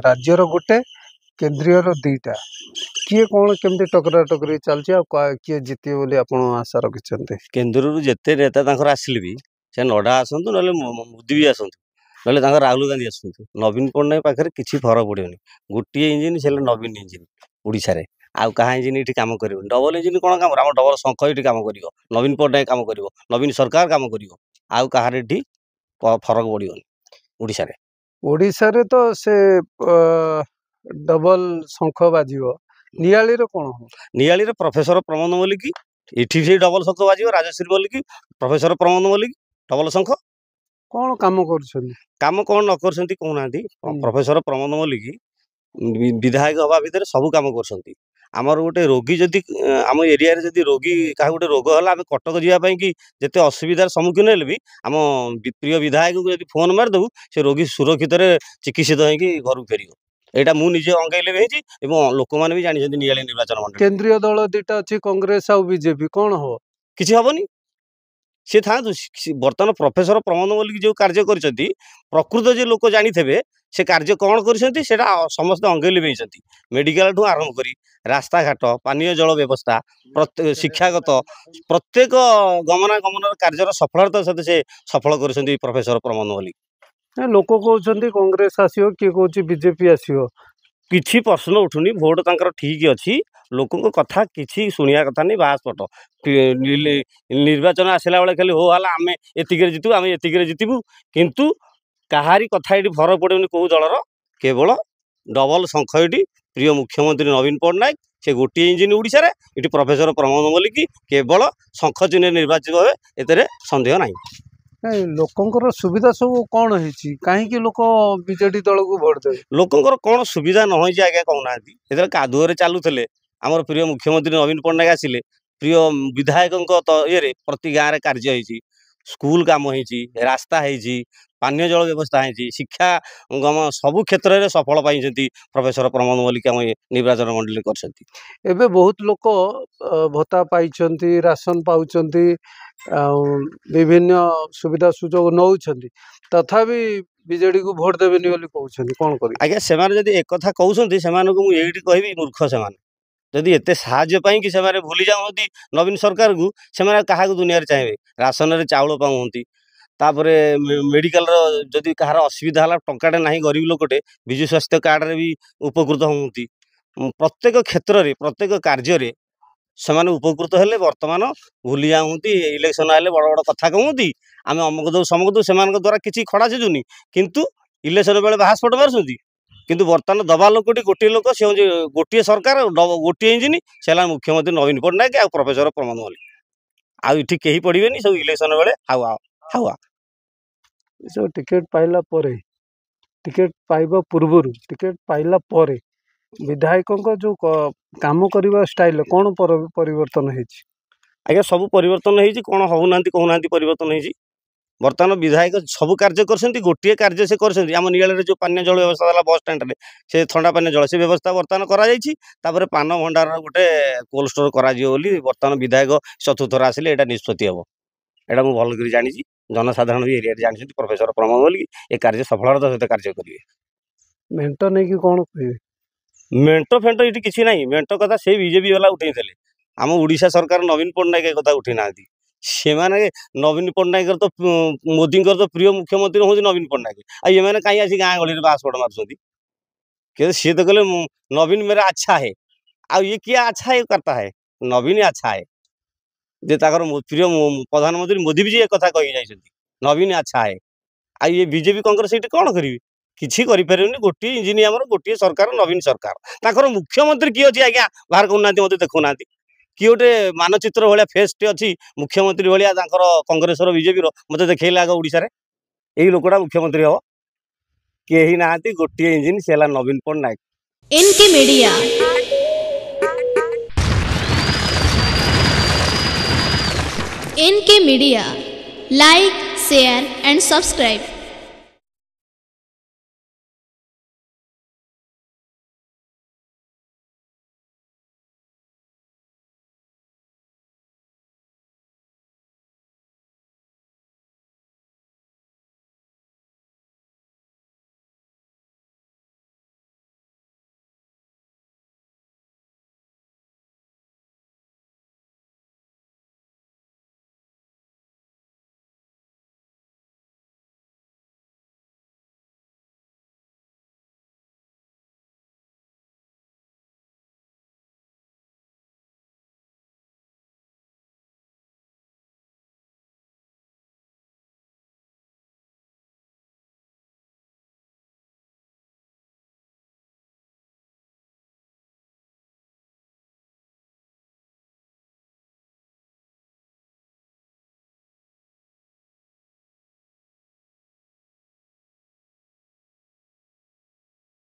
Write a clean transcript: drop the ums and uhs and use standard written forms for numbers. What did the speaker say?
ରାଜ୍ୟର ଗୋଟେ, କେନ୍ଦ୍ରୀୟର 2ଟା, କିଏ କ'ଣ କେମିତି ଟକରା ଟକରି ଚାଲିଛି ଆଉ କିଏ ଜିତିବେ ବୋଲି ଆପଣ ଆଶା ରଖିଛନ୍ତି? କେନ୍ଦ୍ରରୁ ଯେତେ ନେତା ତାଙ୍କର ଆସିଲେ ବି, ସେ ନଡ୍ଡା ଆସନ୍ତୁ, ନହେଲେ ମୋଦି ବି ଆସନ୍ତୁ, ନହେଲେ ତାଙ୍କର ରାହୁଲ ଗାନ୍ଧୀ ଆସନ୍ତୁ, ନବୀନ ପଟ୍ଟନାୟକ ପାଖରେ କିଛି ଫରକ ପଡ଼ିବନି। ଗୋଟିଏ ଇଞ୍ଜିନ୍, ସେ ହେଲା ନବୀନ ଇଞ୍ଜିନ୍। ଓଡ଼ିଶାରେ ଆଉ କାହା ଇଞ୍ଜିନ୍ ଏଠି କାମ କରିବନି। ଡବଲ ଇଞ୍ଜିନ୍ କ'ଣ କାମ? ଆମ ଡବଲ ଶଙ୍ଖ ଏଠି କାମ କରିବ, ନବୀନ ପଟ୍ଟନାୟକ କାମ କରିବ, ନବୀନ ସରକାର କାମ କରିବ। ଆଉ କାହାର ଏଠି ଫରକ ପଡ଼ିବନି ଓଡ଼ିଶାରେ। ଓଡ଼ିଶାରେ ତ ସେ ଡବଲ ଶଙ୍ଖ ବାଜିବ, ନିଆଳିରେ କ'ଣ ହବ? ନିଆଳିରେ ପ୍ରଫେସର ପ୍ରମୋଦ ମଲ୍ଲିକ, ଏଠି ସେଇ ଡବଲ ଶଙ୍ଖ ବାଜିବ। ରାଜଶ୍ରୀ ମଲ୍ଲିକ, ପ୍ରଫେସର ପ୍ରମୋଦ ମଲ୍ଲିକ, ଡବଲ ଶଙ୍ଖ। କ'ଣ କାମ କରୁଛନ୍ତି? କାମ କ'ଣ ନ କରୁଛନ୍ତି କହୁନାହାନ୍ତି? ପ୍ରଫେସର ପ୍ରମୋଦ ମଲ୍ଲିକ ବିଧାୟକ ହେବା ଭିତରେ ସବୁ କାମ କରୁଛନ୍ତି। ଆମର ଗୋଟେ ରୋଗୀ ଯଦି ଆମ ଏରିଆରେ ଯଦି ରୋଗୀ କାହାକୁ ଗୋଟେ ରୋଗ ହେଲା, ଆମେ କଟକ ଯିବା ପାଇଁ କି ଯେତେ ଅସୁବିଧାର ସମ୍ମୁଖୀନ ହେଲେ ବି ଆମ ପ୍ରିୟ ବିଧାୟକକୁ ଯଦି ଫୋନ୍ ମାରିଦେବୁ, ସେ ରୋଗୀ ସୁରକ୍ଷିତରେ ଚିକିତ୍ସିତ ହେଇକି ଘରକୁ ଫେରିବ। ଏଇଟା ମୁଁ ନିଜେ ଅଙ୍ଗେଇଲେ ବି ହେଇଛି ଏବଂ ଲୋକମାନେ ବି ଜାଣିଛନ୍ତି ନିଆଳି ନିର୍ବାଚନ ମଣ୍ଡଳୀ। କେନ୍ଦ୍ରୀୟ ଦଳ 2ଟା ଅଛି, କଂଗ୍ରେସ ଆଉ ବିଜେପି, କ'ଣ ହବ? କିଛି ହବନି, ସିଏ ଥାଆନ୍ତୁ। ବର୍ତ୍ତମାନ ପ୍ରଫେସର ପ୍ରମୋଦ ମଲ୍ଲିକ ଯେଉଁ କାର୍ଯ୍ୟ କରିଛନ୍ତି, ପ୍ରକୃତ ଯେ ଲୋକ ଜାଣିଥିବେ ସେ କାର୍ଯ୍ୟ କ'ଣ କରିଛନ୍ତି, ସେଇଟା ସମସ୍ତେ ଅଙ୍ଗେ ଲିଭେଇଛନ୍ତି। ମେଡ଼ିକାଲଠୁ ଆରମ୍ଭ କରି ରାସ୍ତାଘାଟ, ପାନୀୟ ଜଳ ବ୍ୟବସ୍ଥା, ପ୍ରତ୍ୟେକ ଶିକ୍ଷାଗତ, ପ୍ରତ୍ୟେକ ଗମନାଗମନର କାର୍ଯ୍ୟର ସଫଳତା ସହିତ ସେ ସଫଳ କରିଛନ୍ତି ପ୍ରଫେସର ପ୍ରମୋଦ ମଲ୍ଲିକ। ଲୋକ କହୁଛନ୍ତି କଂଗ୍ରେସ ଆସିବ, କିଏ କହୁଛି ବିଜେପି ଆସିବ। କିଛି ପ୍ରଶ୍ନ ଉଠୁନି, ଭୋଟ ତାଙ୍କର ଠିକ୍ ଅଛି। ଲୋକଙ୍କ କଥା କିଛି ଶୁଣିବା କଥା ନାହିଁ। ବାସ୍ପଟ ନିର୍ବାଚନ ଆସିଲା ବେଳେ ଖାଲି ହୋ ହେଲା, ଆମେ ଏତିକିରେ ଜିତିବୁ, ଆମେ ଏତିକିରେ ଜିତିବୁ, କିନ୍ତୁ କାହାରି କଥା ଏଠି ଫରକ ପଡ଼ିବନି କେଉଁ ଦଳର। କେବଳ ଡବଲ ଶଙ୍ଖ ଏଠି ପ୍ରିୟ ମୁଖ୍ୟମନ୍ତ୍ରୀ ନବୀନ ପଟ୍ଟନାୟକ, ସେ ଗୋଟିଏ ଇଞ୍ଜିନ୍ ଓଡ଼ିଶାରେ। ଏଠି ପ୍ରଫେସର ପ୍ରମୋଦ ମଲ୍ଲିକ କେବଳ ଶଙ୍ଖ ଚିହ୍ନରେ ନିର୍ବାଚିତ ହେବେ, ଏଥିରେ ସନ୍ଦେହ ନାହିଁ। ନାଇଁ, ଲୋକଙ୍କର ସୁବିଧା ସବୁ କ'ଣ ହେଇଛି? କାହିଁକି ଲୋକ ବିଜେଡି ଦଳକୁ ଭୋଟ ଦେବେ? ଲୋକଙ୍କର କ'ଣ ସୁବିଧା ନ ହେଇଛି ଆଜ୍ଞା କହୁନାହାନ୍ତି? ଯେତେବେଳେ କାଦୁଅରେ ଚାଲୁଥିଲେ, ଆମର ପ୍ରିୟ ମୁଖ୍ୟମନ୍ତ୍ରୀ ନବୀନ ପଟ୍ଟନାୟକ ଆସିଲେ, ପ୍ରିୟ ବିଧାୟକଙ୍କ ଇଏରେ ପ୍ରତି ଗାଁରେ କାର୍ଯ୍ୟ ହେଇଛି। ସ୍କୁଲ କାମ ହେଇଛି, ରାସ୍ତା ହେଇଛି, ପାନୀୟ ଜଳ ବ୍ୟବସ୍ଥା ହେଇଛି, ଶିକ୍ଷା ଗମ ସବୁ କ୍ଷେତ୍ରରେ ସଫଳ ପାଇଛନ୍ତି ପ୍ରଫେସର ପ୍ରମୋଦ ମଲ୍ଲିକ ଆମ ନିର୍ବାଚନ ମଣ୍ଡଳୀ କରିଛନ୍ତି। ଏବେ ବହୁତ ଲୋକ ଭତ୍ତା ପାଇଛନ୍ତି, ରାସନ ପାଉଛନ୍ତି ଆଉ ବିଭିନ୍ନ ସୁବିଧା ସୁଯୋଗ ନେଉଛନ୍ତି, ତଥାପି ବିଜେଡ଼ିକୁ ଭୋଟ ଦେବେନି ବୋଲି କହୁଛନ୍ତି, କ'ଣ କରିବେ? ଆଜ୍ଞା, ସେମାନେ ଯଦି ଏକଥା କହୁଛନ୍ତି, ସେମାନଙ୍କୁ ମୁଁ ଏଇଠି କହିବି ମୂର୍ଖ ସେମାନେ। ଯଦି ଏତେ ସାହାଯ୍ୟ ପାଇଁକି ସେମାନେ ଭୁଲି ଯାଉଛନ୍ତି ନବୀନ ସରକାରକୁ, ସେମାନେ କାହାକୁ ଦୁନିଆରେ ଚାହିଁବେ? ରାସନରେ ଚାଉଳ ପାଉଛନ୍ତି, ତାପରେ ମେଡ଼ିକାଲର ଯଦି କାହାର ଅସୁବିଧା ହେଲା, ଟଙ୍କାଟେ ନାହିଁ ଗରିବ ଲୋକଟେ, ବିଜୁ ସ୍ୱାସ୍ଥ୍ୟ କାର୍ଡ଼ରେ ବି ଉପକୃତ ହୁଅନ୍ତି। ପ୍ରତ୍ୟେକ କ୍ଷେତ୍ରରେ ପ୍ରତ୍ୟେକ କାର୍ଯ୍ୟରେ ସେମାନେ ଉପକୃତ ହେଲେ ବର୍ତ୍ତମାନ ଭୁଲି ଯାଉଛନ୍ତି। ଇଲେକ୍ସନ୍ ହେଲେ ବଡ଼ ବଡ଼ କଥା କହୁଛନ୍ତି, ଆମେ ଅମକ ଦେବୁ ସମକ ଦେବୁ। ସେମାନଙ୍କ ଦ୍ୱାରା କିଛି ଖଡ଼ା ସିଜୁନି, କିନ୍ତୁ ଇଲେକ୍ସନ୍ ବେଳେ ବାହାସ୍ଫୋଟ ମାରୁଛନ୍ତି। କିନ୍ତୁ ବର୍ତ୍ତମାନ ଦବା ଲୋକଟି ଗୋଟିଏ ଲୋକ, ସେ ହେଉଛି ଗୋଟିଏ ସରକାର, ଗୋଟିଏ ଇଞ୍ଜିନ୍, ସେ ହେଲା ମୁଖ୍ୟମନ୍ତ୍ରୀ ନବୀନ ପଟ୍ଟନାୟକ ଆଉ ପ୍ରଫେସର ପ୍ରମୋଦ ମଲ୍ଲିକ। ଆଉ ଏଠି କେହି ପଡ଼ିବେନି, ସବୁ ଇଲେକ୍ସନ୍ ବେଳେ ହାୱା ହାୱା। ଏସବୁ ଟିକେଟ୍ ପାଇଲା ପରେ, ଟିକେଟ୍ ପାଇବା ପୂର୍ବରୁ, ଟିକେଟ୍ ପାଇଲା ପରେ ବିଧାୟକଙ୍କ ଯେଉଁ କାମ କରିବା ଷ୍ଟାଇଲ୍ କ'ଣ ପରିବର୍ତ୍ତନ ହେଇଛି? ଆଜ୍ଞା, ସବୁ ପରିବର୍ତ୍ତନ ହେଇଛି। କ'ଣ ହେଉନାହାନ୍ତି କହୁନାହାନ୍ତି? ପରିବର୍ତ୍ତନ ହେଇଛି। ବର୍ତ୍ତମାନ ବିଧାୟକ ସବୁ କାର୍ଯ୍ୟ କରିଛନ୍ତି, ଗୋଟିଏ କାର୍ଯ୍ୟ ସେ କରିଛନ୍ତି, ଆମ ନିଆଳିରେ ଯେଉଁ ପାନୀୟ ଜଳ ବ୍ୟବସ୍ଥା ହେଲା ବସ୍ ଷ୍ଟାଣ୍ଡରେ, ସେ ଥଣ୍ଡା ପାନୀୟ ଜଳ ସେ ବ୍ୟବସ୍ଥା ବର୍ତ୍ତମାନ କରାଯାଇଛି। ତାପରେ ପାନ ଭଣ୍ଡାରର ଗୋଟେ କୋଲ୍ଡ ଷ୍ଟୋର କରାଯିବ ବୋଲି ବର୍ତ୍ତମାନ ବିଧାୟକ ଚତୁର୍ଥ ଥର ଆସିଲେ ଏଇଟା ନିଷ୍ପତ୍ତି ହେବ। ଏଇଟା ମୁଁ ଭଲ କରି ଜାଣିଛି, ଜନସାଧାରଣ ବି ଏରିଆରେ ଜାଣିଛନ୍ତି, ପ୍ରଫେସର ପ୍ରମୋଦ ମଲ୍ଲିକ ଏ କାର୍ଯ୍ୟ ସଫଳତାର ସହିତ କାର୍ଯ୍ୟ କରିବେ। ମେଣ୍ଟ ନେଇକି କ'ଣ କହିବେ? ମେଣ୍ଟ ଫେଣ୍ଟ ଏଠି କିଛି ନାହିଁ। ମେଣ୍ଟ କଥା ସେଇ ବିଜେପି ବାଲା ଉଠେଇଥିଲେ। ଆମ ଓଡ଼ିଶା ସରକାର ନବୀନ ପଟ୍ଟନାୟକ ଏ କଥା ଉଠେଇ ନାହାନ୍ତି। ସେମାନେ ନବୀନ ପଟ୍ଟନାୟକର ତ, ମୋଦିଙ୍କର ତ ପ୍ରିୟ ମୁଖ୍ୟମନ୍ତ୍ରୀ ହେଉଛନ୍ତି ନବୀନ ପଟ୍ଟନାୟକ, ଆଉ ଏମାନେ କାହିଁ ଆସି ଗାଁ ଗହଳିରେ ବାସ୍ଫୋଟ ମାରୁଛନ୍ତି? କିନ୍ତୁ ସିଏ ତ କହିଲେ ନବୀନ मेरा अच्छा है, ଆଉ ଇଏ କିଏ अच्छा है करता है? ନବୀନ अच्छा है ଯେ ତାଙ୍କର ପ୍ରିୟ ପ୍ରଧାନମନ୍ତ୍ରୀ ମୋଦି ବି ଏ କଥା କହିକି ଯାଇଛନ୍ତି, ନବୀନ अच्छा है। ଆଉ ଇଏ ବିଜେପି କଂଗ୍ରେସ ସେଇଠି କ'ଣ କରିବେ? କିଛି କରିପାରିବେନି। ଗୋଟିଏ ଇଞ୍ଜିନ୍ ଆମର, ଗୋଟିଏ ସରକାର, ନବୀନ ସରକାର। ତାଙ୍କର ମୁଖ୍ୟମନ୍ତ୍ରୀ କିଏ ଅଛି ଆଜ୍ଞା ବାହାର କରୁନାହାନ୍ତି, ମୋତେ ଦେଖୁନାହାନ୍ତି। କିଏ ଗୋଟେ ମାନଚିତ୍ର ଭଳିଆ ଫେସ୍ଟେ ଅଛି ମୁଖ୍ୟମନ୍ତ୍ରୀ ଭଳିଆ ତାଙ୍କର କଂଗ୍ରେସର ବିଜେପିର? ମୋତେ ଦେଖେଇଲେ ଆଗ ଓଡ଼ିଶାରେ ଏଇ ଲୋକଟା ମୁଖ୍ୟମନ୍ତ୍ରୀ ହେବ। କେହି ନାହାନ୍ତି। ଗୋଟିଏ ଇଞ୍ଜିନ୍, ସେ ହେଲା ନବୀନ Patnaik. NK media, NK media, like, share and subscribe.